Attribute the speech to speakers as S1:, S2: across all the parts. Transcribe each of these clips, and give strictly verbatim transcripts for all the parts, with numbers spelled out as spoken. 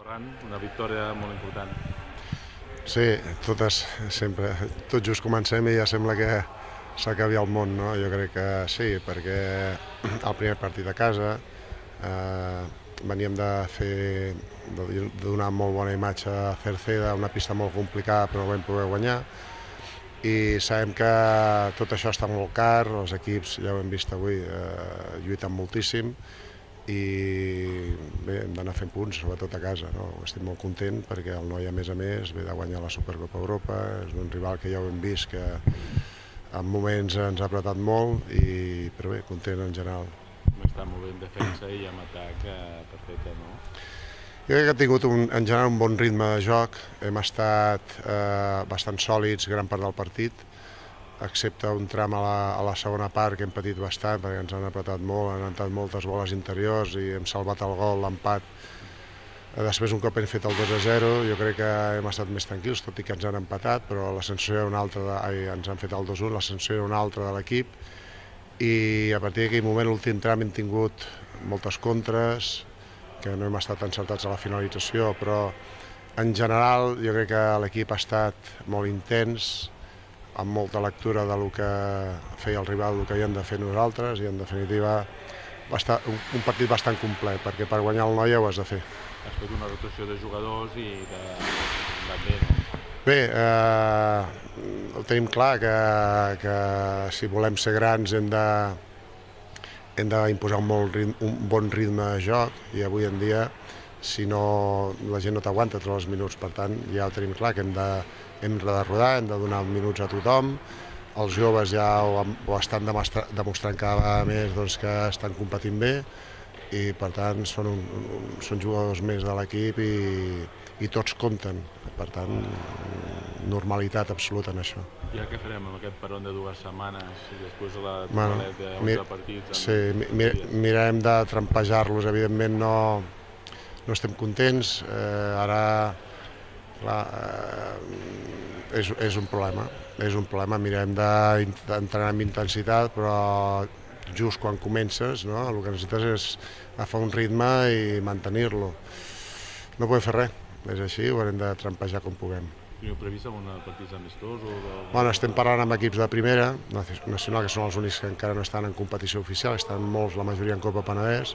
S1: Ferran, una victòria molt important.
S2: Sí, totes, sempre, tot just comencem i ja sembla que s'acabi el món, no? Jo crec que sí, perquè el primer partit a casa, eh, veníem de fer, de donar molt bona imatge a Cerceda, una pista molt complicada però no vam poder guanyar, i sabem que tot això està molt car, els equips, ja ho hem vist avui, eh, lluiten moltíssim, i bé, hem d'anar fent punts, sobretot a casa, no? Estic molt content perquè el noi, a més a més, ve de guanyar la Supercopa Europa, és un rival que ja ho hem vist, que en moments ens ha apretat molt, i, però bé, content en general.
S1: Està molt bé en defensa i amb atac perfecte, no?
S2: Jo crec que ha tingut un, en general un bon ritme de joc, hem estat eh, bastant sòlids gran part del partit, excepte un tram a la, a la segona part que hem patit bastant perquè ens han apretat molt, han entrat moltes boles interiors i hem salvat el gol, l'empat. Després, un cop hem fet el dos a zero, jo crec que hem estat més tranquils, tot i que ens han empatat, però la sensació era una altra, de, ai, ens han fet el dos a u, la sensació era una altra de l'equip, i a partir d'aquell moment, l'últim tram, hem tingut moltes contres, que no hem estat encertats a la finalització, però en general jo crec que l'equip ha estat molt intens, amb molta lectura del que feia el rival, del que hi hem de fer nosaltres, i en definitiva va estar un, un partit bastant complet, perquè per guanyar el Noia ho has de fer.
S1: Has fet una rotació de jugadors i que va bé, no?
S2: Bé, eh, ho tenim clar, que, que si volem ser grans hem de hem d'imposar un, molt ritme, un bon ritme de joc, i avui en dia, si no, la gent no t'aguanta tots els minuts, per tant, ja ho tenim clar, que hem de, hem de rodar, hem de donar minuts a tothom, els joves ja ho, ho estan demostrant cada vegada més, doncs, que estan competint bé, i per tant són, un, un, són jugadors més de l'equip i, i tots compten, per tant, normalitat absoluta en això.
S1: I què farem amb aquest peron de dues setmanes i després la
S2: bueno,
S1: de partits?
S2: Sí, mi, mirarem de trampejar-los, evidentment no, no estem contents, eh, ara clar, eh, és, és un problema, és un problema, mirarem d'entrenar amb intensitat, però just quan comences, no, el que necessites és agafar un ritme i mantenir-lo. No podem fer res, és així, ho haurem de trampejar com puguem.
S1: Teniu previst algun partit amistós? O de...
S2: Bueno, estem parlant amb equips de primera nacional, que són els únics que encara no estan en competició oficial, estan molts, la majoria en Copa Penedès,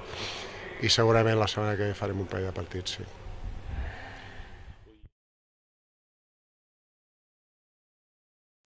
S2: i segurament la setmana que ve farem un parell de partits, sí.